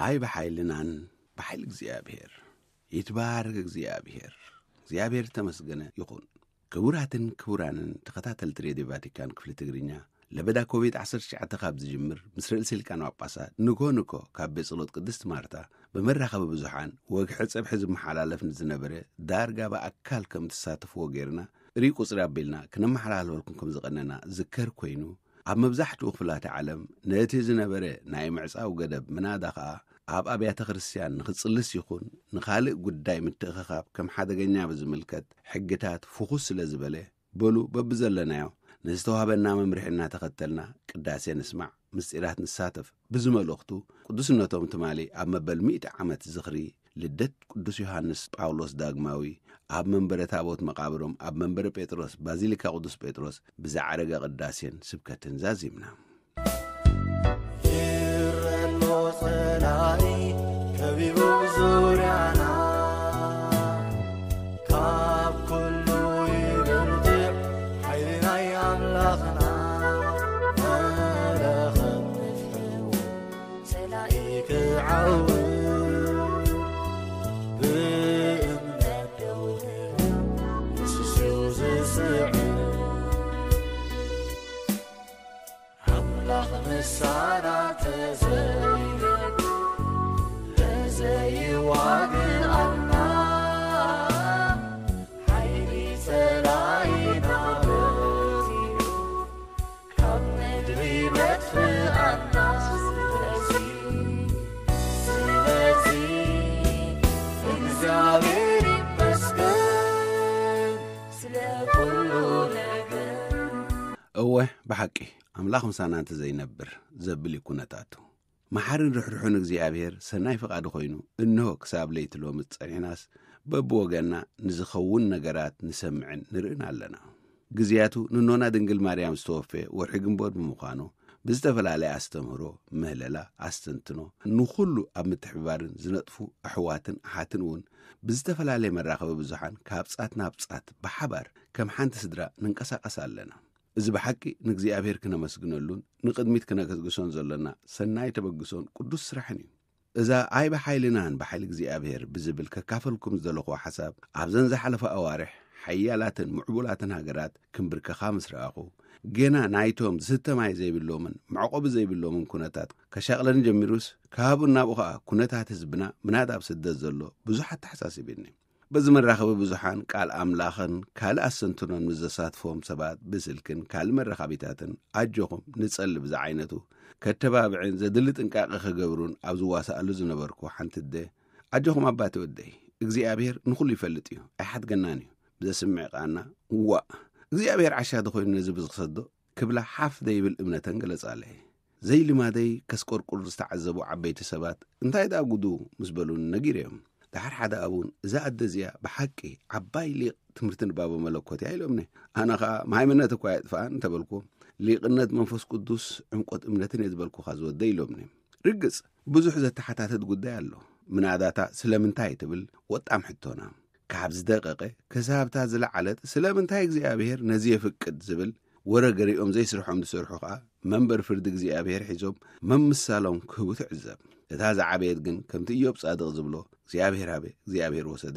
ኣይ ብሓይልናን፣ ብሓይሊ እግዚኣብሔር። ይትባረክ እግዚኣብሔር። እግዚኣብሔር ተመስገነ ይኹን። ክቡራትን ክቡራንን ተኸታተልቲ ሬድዮ ቫቲካን ክፍሊ ትግርኛ፣ ለበዳ ኮቪድ ዓሰርተ ትሽዓተ ካብ ዝጅምር፣ ምስ ርእሰ ሊቃነ ጳጳሳት ንኮ ንኮ ካብ ቤት ጸሎት ቅድስቲ ማርታ ብመራኸቢ ብዙሓን ወግሒ ጸብሒ ዝመሓላለፍ ንዝነበረ፣ ዳርጋ ብኣካል ከም ትሳተፍዎ ጌርና፣ ርኡይ ቁጽሪ ኣቢልና ክነመሓላልፈልኩም ከም ዝቐነና ዝከር ኮይኑ፣ ኣብ መብዛሕትኡ ክፍላተ ዓለም ነቲ ዝነበረ ናይ ምዕጻው ገደብ ምናዳ ኸኣ ኣብ ኣብያተ ክርስቲያን ንኽጽልስ ይኹን ንኻልእ ጉዳይ ምትእኽኻብ ከም ሓደገኛ ብዝምልከት ሕግታት ፍኹስ ስለ ዝበለ፣ በሉ በብዘለናዮ ንዝተዋህበና መምርሒ እናተኸተልና ቅዳሴ ንስማዕ፣ ምስጢራት ንሳተፍ። ብዚ መልእኽቱ ቅዱስነቶም ትማሊ ኣብ መበል ሚእቲ ዓመት ዝኽሪ ልደት ቅዱስ ዮሃንስ ጳውሎስ ዳግማዊ ኣብ መንበረ ታቦት መቓብሮም ኣብ መንበረ ጴጥሮስ ባዚሊካ ቅዱስ ጴጥሮስ ብዝዓረገ ቅዳሴን ስብከትን ዛዚምና። ይረሎ ጸላኢ ከቢቡ ዙርያና፣ ካብ ኩሉ ይብርትዕ ሓይሊ ናይ ኣምላኽና። መለኸት ንፍሕዎ ጸላኢ ክዓው፣ ብእምነት ደው ንብል ንሱ ዝስዕር። ኣምላኽ ምሳና ተዘይለ ተዘይዋግኣና፣ ሓይሊ ጸላኢና በዚሑ ካብ ምድሪ መጥፍኣና። ስለዚ፣ ስለዚ እግዚኣብሔር ይመስገን ስለ ኩሉ ነገር። እወ፣ ብሓቂ ኣምላኽ ምሳና እንተዘይነብር ዘብል እዩ ኩነታቱ። መሓርን ርሕሩሕን እግዚኣብሔር ሰናይ ፍቓዱ ኮይኑ፣ እንሆ ክሳብ ለይቲ ሎሚ ጸኒሕናስ፣ በብወገንና ንዝኸውን ነገራት ንሰምዕን ንርእን ኣለና። ግዜያቱ ንኖና ድንግል ማርያም ዝተወፈየ ወርሒ ግንቦት ብምዃኑ፣ ብዝተፈላለየ ኣስተምህሮ፣ ምህለላ፣ ኣስተንትኖ፣ ንኹሉ ኣብ ምትሕብባርን ዝነጥፉ ኣሕዋትን ኣሓትን እውን ብዝተፈላለየ መራኸቢ ብዙሓን ካብ ጻት ናብ ጻት ብሓባር ከም ሓንቲ ስድራ ንንቀሳቐስ ኣለና። እዚ ብሓቂ ንእግዚኣብሔር ክነመስግነሉን ንቕድሚት ክነገስግሶን ዘሎና ሰናይ ተበግሶን ቅዱስ ስራሕን እዩ። እዛ ኣይ ብሓይልናን ብሓይሊ እግዚኣብሔር ብዝብል ከካፈልኩም ዝደለኹዎ ሓሳብ፣ ኣብዘን ዝሓለፋ ኣዋርሕ ሓያላትን ምዕቡላትን ሃገራት ክንብርከኻ ምስ ረኣኹ፣ ጌና ናይቶም ዝስተ ማይ ዘይብሎምን መዕቆቢ ዘይብሎምን ኩነታት ከሻቕለኒ ጀሚሩስ፣ ካብኡ ናብኡ ኸኣ ኩነታት ህዝብና ምናዳ ኣብ ስደት ዘሎ ብዙሕ ኣተሓሳሲብኒ። በዚ መራኸቢ ብዙሓን ቃል ኣምላኽን ካልእ ኣስተንትኖን ምስ ዘሳትፎም ሰባት ብስልክን ካልእ መራኸቢታትን ኣጆኹም ንጸሊ ብዝዓይነቱ ከተባብዕን ዘድሊ ጥንቃቐ ክገብሩን ኣብ ዝዋሳኣሉ ዝነበርኩ ሓንቲ ኣደ፣ ኣጆኹም ኣባቲ ወደይ፣ እግዚኣብሔር ንኹሉ ይፈልጥ እዩ፣ ኣይሓድገናን እዩ። ብዘስምዕ ቃና፣ ዋእ፣ እግዚኣብሔር ዓሻ ዶ ኮይኑ ነዚ ብዝኽሰዶ ክብላ ሓፍ ደይብል እምነተን ገለጻለይ። ዘይልማደይ ከስቆርቁር ዝተዓዘቡ ዓበይቲ ሰባት፣ እንታይ ደኣ ጉዱ ምስ በሉኒ ነጊረዮም። ደሓር ሓደ ኣቡን፣ እዛ ኣደ እዚኣ ብሓቂ ዓባይ ሊቕ ትምህርቲ ንባበ መለኮት እያ ኢሎምኒ። ኣነ ኸኣ፣ ማይምነት እኳ የጥፍኣን እንተበልኩ፣ ሊቕነት መንፈስ ቅዱስ ዕምቆት እምነትን እየ ዝበልኩኻ ዝወደ ኢሎምኒ። ርግጽ፣ ብዙሕ ዘተሓታተት ጉዳይ ኣሎ። ምናዳታ ስለምንታይ ትብል ወጣም ሕቶና። ካብ ዝደቀቐ ክሳብታ ዝለዓለት ስለምንታይ እግዚኣብሔር ነዚ የፍቅድ ዝብል ወረ ገሪኦም ዘይስርሖም ዝሰርሑ ኸኣ መንበር ፍርዲ እግዚኣብሔር ሒዞም መምሳሎም ክህቡ ትዕዘብ። እታ ዝዓበየት ግን ከምቲ ኢዮብ ጻድቕ ዝብሎ እግዚኣብሔር ሃበ፣ እግዚኣብሔር ወሰደ፣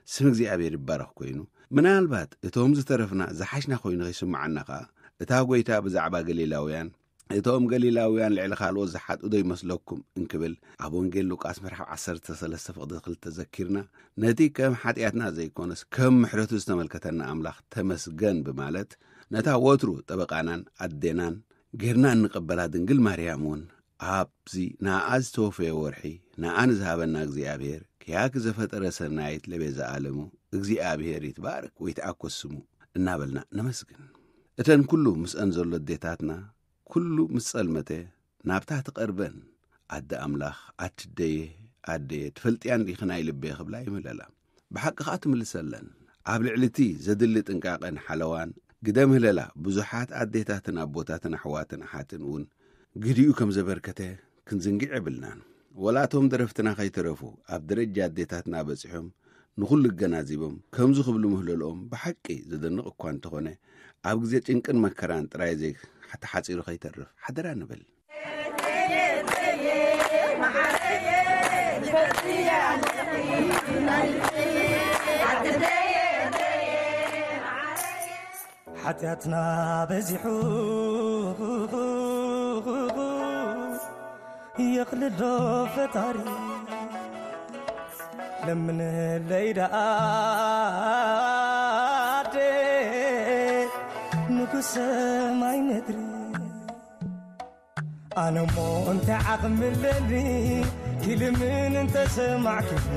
ስም እግዚኣብሔር ይባረኽ ኮይኑ፣ ምናልባት እቶም ዝተረፍና ዝሓሽና ኮይኑ ከይስምዓና ኸኣ እታ ጐይታ ብዛዕባ ገሊላውያን እቶም ገሊላውያን ልዕሊ ካልኦት ዝሓጡ ዶ ይመስለኩም? እንክብል ኣብ ወንጌል ሉቃስ ምዕራፍ ዓሰርተ ሰለስተ ፍቕዲ ክልተ ዘኪርና፣ ነቲ ከም ሓጢኣትና ዘይኮነስ ከም ምሕረቱ ዝተመልከተና ኣምላኽ ተመስገን ብማለት፣ ነታ ወትሩ ጠበቃናን ኣዴናን ጌርና እንቐበላ ድንግል ማርያም እውን ኣብዚ ንኣኣ ዝተወፈየ ወርሒ ንኣኣ ንዝሃበና እግዚኣብሔር፣ ክያኪ ዘፈጠረ ሰናይት ለቤዛ ዓለሙ እግዚኣብሔር ይትባረክ ወይትኣኮስ ስሙ እናበልና ነመስግን። እተን ኩሉ ምስአን ዘሎ ኣዴታትና ኩሉ ምስ ጸልመተ ናብታ ትቐርበን፣ ኣደ ኣምላኽ፣ ኣቲ ደየ፣ ኣደየ፣ ትፈልጥያን ዲኺ ናይ ልበየ ክብላ ይምህለላ። ብሓቂ ኸኣ ትምልሰለን። ኣብ ልዕሊ እቲ ዘድሊ ጥንቃቐን ሓለዋን ግደ ምህለላ ብዙሓት ኣዴታትን ኣቦታትን ኣሕዋትን ኣሓትን እውን ግዲኡ ከም ዘበርከተ ክንዝንግዕ የብልናን። ወላ እቶም ደረፍትና ከይተረፉ ኣብ ደረጃ ኣዴታትና በጺሖም ንኹሉ ኣገናዚቦም ከምዚ ክብሉ ምህለልኦም ብሓቂ ዘደንቕ እኳ እንተኾነ፣ ኣብ ግዜ ጭንቅን መከራን ጥራይ ዘይተሓጺሩ ከይተርፍ ሓደራ ንብል። ሓጢኣትና በዚሑ የኽልሎ ፈጣሪ፣ ለምንለይ ደኣ ኣደ ንጉስ ሰማይ ምድሪ። ኣነ እሞ እንታይ ዓቕሚ ኣለኒ ክልምን እንተሰማዕክኒ፣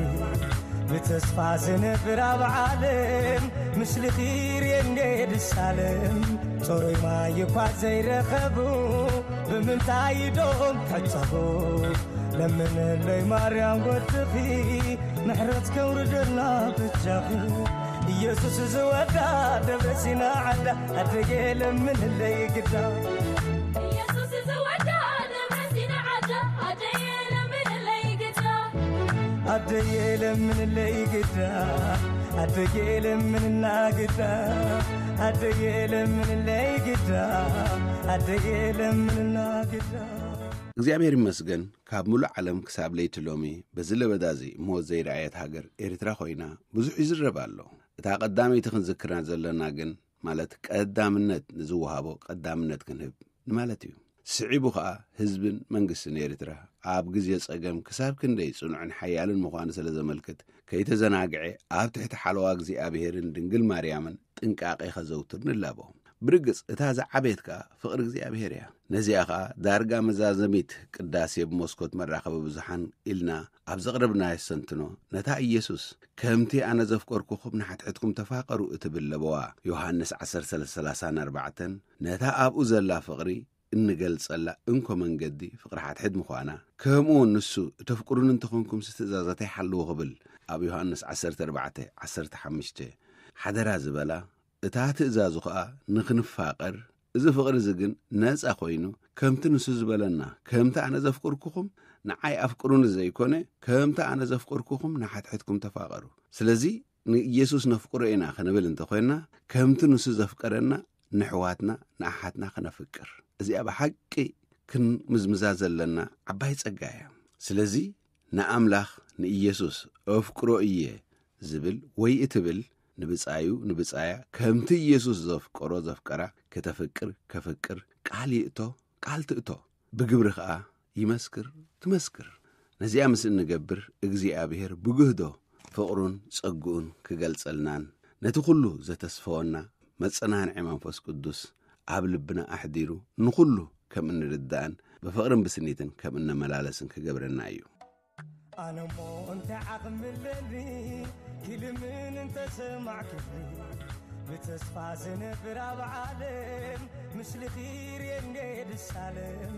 ብተስፋ ዝነብር ኣብ ዓለም ምስልኺ ርእየ እንደ ድሳለም። ጽሩይ ማይ እኳ ዘይረኸቡ ብምንታይ ኢዶም ክሕጸቡ? ለምንለይ ማርያም ወድኺ ምሕረት ከውርደልና በጃኺ። ኢየሱስ ዝወዳ ደብረ ሲና ዓዳ ኣደየ ለምንለይ ግዳ። ኢየሱስ ዝወዳ ደብረ ሲና ዓዳ ኣደየ ለምንለይ ግዳ። ኣደየ ለምንለይ ግዳ። ኣደየ ለምንና ግዳ። ኣደየ ለምንለይ ግዳ። ኣደየ ለምንና ግዳ። እግዚኣብሔር ይመስገን፣ ካብ ምሉእ ዓለም ክሳብ ለይቲ ሎሚ በዚ ለበዳ እዚ ሞት ዘይረኣየት ሃገር ኤርትራ ኮይና ብዙሕ ይዝረብ ኣሎ። እታ ቀዳመይቲ ክንዝክራ ዘለና ግን፣ ማለት ቀዳምነት ንዝወሃቦ ቀዳምነት ክንህብ ንማለት እዩ። ስዒቡ ኸኣ ህዝብን መንግስትን ኤርትራ ኣብ ግዜ ጸገም ክሳብ ክንደይ ጽኑዕን ሓያልን ምዃኑ ስለ ዘመልክት፣ ከይተዘናግዐ ኣብ ትሕቲ ሓለዋ እግዚኣብሔርን ድንግል ማርያምን ጥንቃቄ ከዘውትር ንላቦ። ብርግጽ እታ ዝዓበየት ከኣ ፍቕሪ እግዚኣብሔር እያ። ነዚኣ ኸኣ ዳርጋ መዛዘሚት ቅዳሴ ብመስኮት መራኸቢ ብዙሓን ኢልና ኣብ ዘቕረብናዮ ኣስተንትኖ፣ ነታ ኢየሱስ ከምቲ ኣነ ዘፍቀርኩኹም ንሓትሕትኩም ተፋቐሩ እትብል ለበዋ ዮሃንስ ዓሰርተ ሰለስተ ሰላሳ ኣርባዕተን ነታ ኣብኡ ዘላ ፍቕሪ እንገልጸላ እንኮ መንገዲ ፍቕሪ ሓድሕድ ምዃና፣ ከምኡ እውን ንሱ እተፍቅሩኒ እንተኾንኩምሲ ትእዛዛተይ ሓልዉ ክብል ኣብ ዮሃንስ ዓሰርተ ኣርባዕተ ዓሰርተ ሓሙሽተ ሓደራ ዝበላ፣ እታ ትእዛዙ ኸኣ ንኽንፋቐር፣ እዚ ፍቕሪ እዚ ግን ነጻ ኾይኑ፣ ከምቲ ንሱ ዝበለና፣ ከምቲ ኣነ ዘፍቅርኩኹም ንዓይ ኣፍቅሩኒ ዘይኮነ፣ ከምቲ ኣነ ዘፍቅርኩኹም ንሓድሕድኩም ተፋቐሩ። ስለዚ ንኢየሱስ ነፍቅሮ ኢና ክንብል እንተኾይንና፣ ከምቲ ንሱ ዘፍቀረና ንሕዋትና ንኣሓትና ክነፍቅር። እዚኣ ብሓቂ ክንምዝምዛ ዘለና ዓባይ ጸጋ እያ። ስለዚ ንኣምላኽ ንኢየሱስ እፍቅሮ እየ ዝብል ወይ እትብል ንብጻዩ ንብጻያ ከምቲ ኢየሱስ ዘፍቀሮ ዘፍቀራ ከተፍቅር ከፍቅር ቃል ይእቶ ቃል ትእቶ። ብግብሪ ኸኣ ይመስክር ትመስክር። ነዚኣ ምስ እንገብር እግዚኣብሔር ብግህዶ ፍቕሩን ጸግኡን ክገልጸልናን ነቲ ኩሉ ዘተስፈወና መጸናንዒ መንፈስ ቅዱስ ኣብ ልብና ኣሕዲሩ ንኹሉ ከም እንርዳእን ብፍቕርን ብስኒትን ከም እነመላለስን ክገብረና እዩ። ኣነ እሞ እንታይ ዓቕሚ ኣለኒ ክልምን እንተሰማዕክኒ፣ ብተስፋ ዝነብር ኣብ ዓለም ምስልኺ ርእየ እንደ ድሳለም።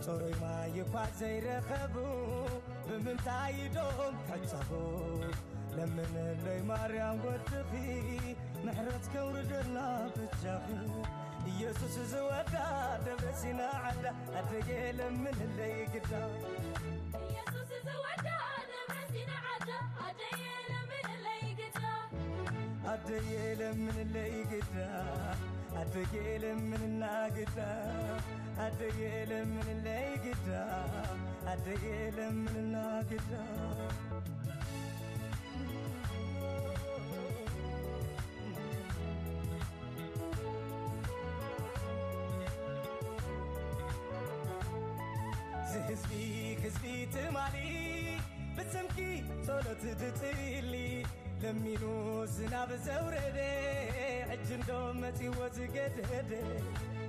ጽሩይ ማይ እኳ ዘይረኸቡ ብምንታይ ኢዶም ክሕጸቡ? ለምንለይ ማርያም ወድኺ ምሕረት ከውርደልና በጃኺ። ኢየሱስ ዝወዳ ደብረ ሲና ዓዳ ኣደየ ለምንለይ ግዳ። ኢየሱስ ዝወዳ ደብረ ሲና ዓዳ ኣደየ ለምንለይ ግዳ። ኣደየ ለምንለይ ግዳ። ኣደየ ለምንና ግዳ። ኣደየ ለምንለይ ግዳ። ኣደየ ለምንና ግዳ። ዝህዝቢ ህዝቢ ትማሊ ብስምኪ ጸሎት ትጽሊ ለሚኑ ዝናብ ዘውረደ ሕጂ እንዶ መጺዎ ዝገደደ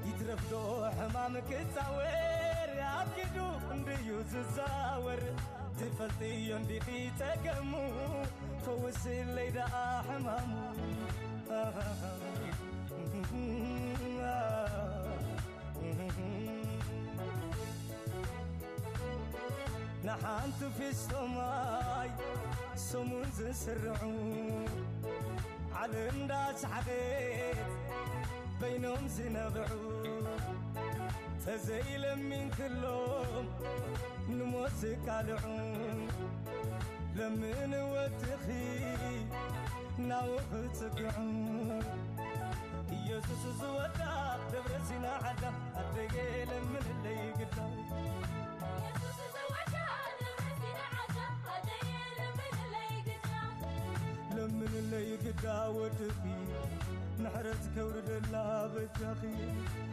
ይትረፍዶ ሕማም ክጻወር ኣብ ኪዱ እንድዩ ዝዛወር ትፈልጥዮ እንዲኺ ጸገሙ ፈውስለይ ደኣ ሕማሙ። ንሓንቲ ፊስቶ ማይ ሰሙን ዝስርዑ ዓለም እንዳሰሓቐት በይኖም ዝነብዑ ተዘይለሚንክሎም ንሞት ዝቃልዑ ለምን ወድኺ ናብኡ ክጽግዑ ኢየሱስ ዝወዳ ደብረ ሲና ዓዳ ኣደየ ለምንለይ ግዳ። ኢየሱስ ዝወዳ ደብረ ሲና ዓዳ ኣደየ ለምንለይ ግዳ። ለምንለይ ይግዳ ወድኺ ምሕረት ከውርደላ በጃኺ።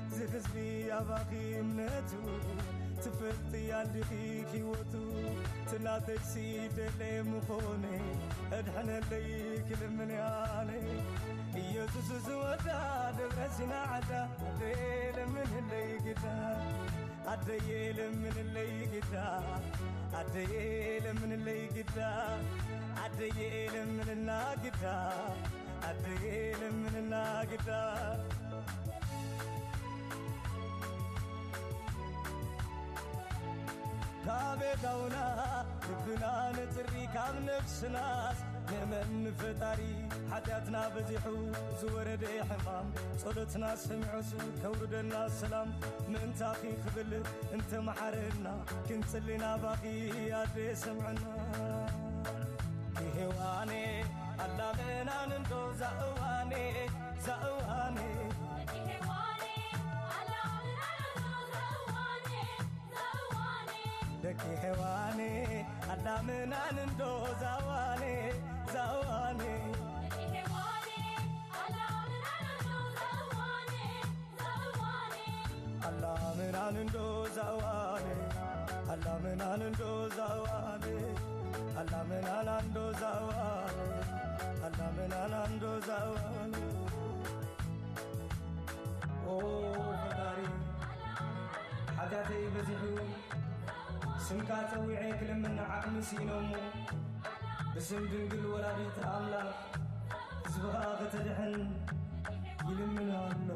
እዚ ህዝቢ ኣባኺ እምነቱ ትፈልጢ ኣንዲኺ ህይወቱ ትናተይሲ ደለ ምኾነ እድሕነለይ ክልምን ያነ ኢየሱስ ዝወዳ ደብረ ሲና ዓዳ ደለ ምንለይ ግዳ ኣደየ ለምንለይ ግዳ ኣደየ ለምንለይ ግዳ ኣደየ ለምንና ግዳ ኣደየ ለምንና ግዳ ካበዳውና ልብና ንጥሪ ካብ ነፍስናስ ንመን ፈጣሪ ሓጢኣትና በዚሑ ዝወረደ ሕማም ጸሎትና ሰሚዑስ ከውርደና ሰላም ምእንታኺ ክብል እንተ መሓረና ክንጽሊ ናባኺ ኣደ ሰምዕና። ኪሄዋኔ ኣላመናን እንዶ ዛእዋኔ ዛእዋኔ ደቂ ሄዋኔ ኣላመናን እንዶ ዛዋኔ ዛዋኔ ኣላመናን እንዶ ዛዋኔ ኣላመናን እንዶ ዛዋኔ ኣላመናን እንዶ ዛዋኔ ኣላመናን እንዶ ዛዋኔ ኦ ፈጣሪ ሓጢኣተይ በዚሑ ስምካ ጸዊዐ ክልምን ዓቕሚ ስኢኖሞ ብስም ድንግል ወላዲት ኣምላኽ ህዝብኻ ከተድሕን ይልምን ኣሎ።